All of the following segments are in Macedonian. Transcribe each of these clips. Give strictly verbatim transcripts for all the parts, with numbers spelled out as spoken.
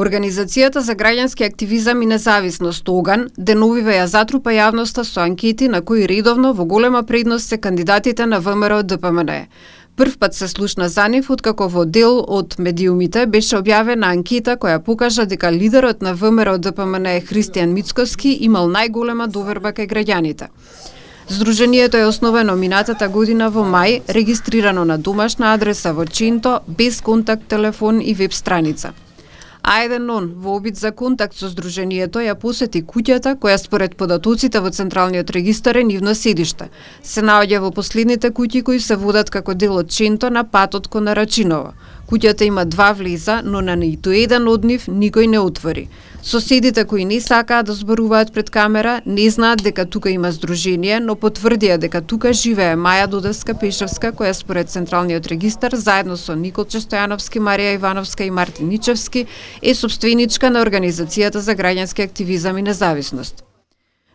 Организацијата за граѓански активизам и независност ОГАН деновиве ја затрупа јавноста со анкети на кои редовно во голема предност се кандидатите на ВМРО Д П М Н. Прв пат се слушна за нив откако во дел од медиумите беше објавена анкета која покажа дека лидерот на ВМРО Д П М Н Христијан Мицкоски имал најголема доверба кај граѓаните. Здруженијето е основено минатата година во мај, регистрирано на домашна адреса во Чинто, без контакт телефон и веб страница. А еден нон, во обид за контакт со Здруженијето, ја посети куќата која според податоците во Централниот регистар е нивно седиште. Се наоѓа во последните куќи кои се водат како дел од Чинто на патот кон Нарачиново. Куќата има два влеза, но на ниту еден од нив никој не отвори. Соседите кои не сакаат да зборуваат пред камера, не знаат дека тука има здружение, но потврдија дека тука живее Маја Додевска-Пешевска, која според Централниот регистар, заедно со Николче Стојановски, Марија Ивановска и Мартин Ничевски, е собственичка на Организацијата за граѓански активизам и независност.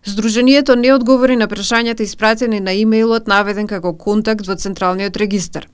Здруженијето не одговори на прашањата испратени на имејлот наведен како контакт во Централниот регистар.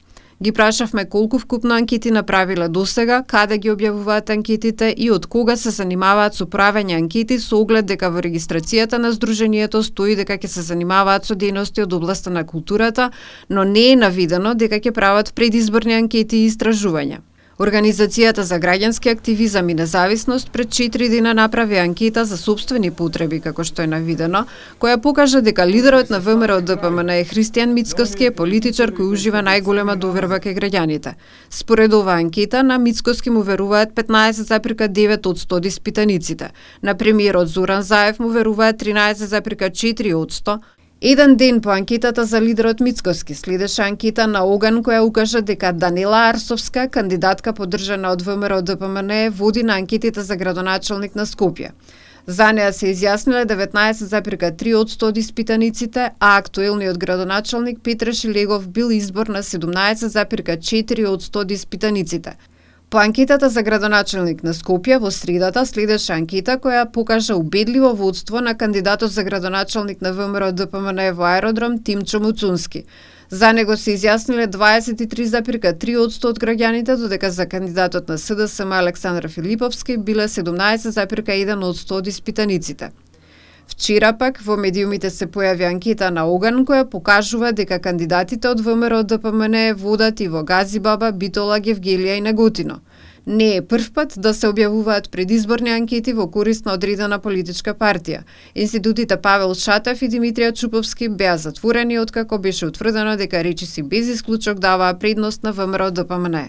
Ги прашавме колку вкупно анкети направиле досега, каде ги објавуваат анкетите и од кога се занимаваат со правење анкети со оглед дека во регистрацијата на Здруженијето стои дека ќе се занимаваат со дејности од областа на културата, но не е навидено дека ќе прават предизборни анкети и истражувања. Организацијата за граѓански активизам и независност пред четири дена направи анкета за сопствени потреби, како што е навидено, која покажа дека лидерот на ВМРО Д П М Н Христијан Мицкоски е политичар кој ужива најголема доверба кај граѓаните. Според оваа анкета, на Мицкоски му веруваат петнаесет запирка девет од сто од испитаниците. На премиерот Зоран Заев му веруваат тринаесет запирка четири од сто. Еден ден по анкетата за лидерот Мицкоски следеше анкета на ОГАН која укажа дека Данила Арсовска, кандидатка поддржана од ВМРО Д П М Н, води на анкетите за градоначалник на Скопје. За неа се изјасниле деветнаесет запирка три од сто од испитаниците, а актуелниот градоначалник Петре Шилегов бил избор на седумнаесет запирка четири од сто од испитаниците. По анкетата за градоначалник на Скопје во средата следеше анкета која покажа убедливо водство на кандидатот за градоначалник на ВМРО Д П М Н во аеродром Тимчо Муцунски. За него се изјасниле дваесет и три запирка три од сто од граѓаните, додека за кандидатот на С Д С М Александра Филиповски биле седумнаесет запирка еден од сто од испитаниците. Вчера пак во медиумите се појави анкета на ОГАН која покажува дека кандидатите од ВМРО Д П М Н водат и во Газибаба, Битола, Гевгелија и Неготино. Не е прв пат да се објавуваат предизборни анкети во корист на одредена политичка партија. Институтите Павел Шатев и Димитрија Чуповски беа затворени откако беше утврдено дека речиси без исклучок даваа предност на ВМРО Д П М Н.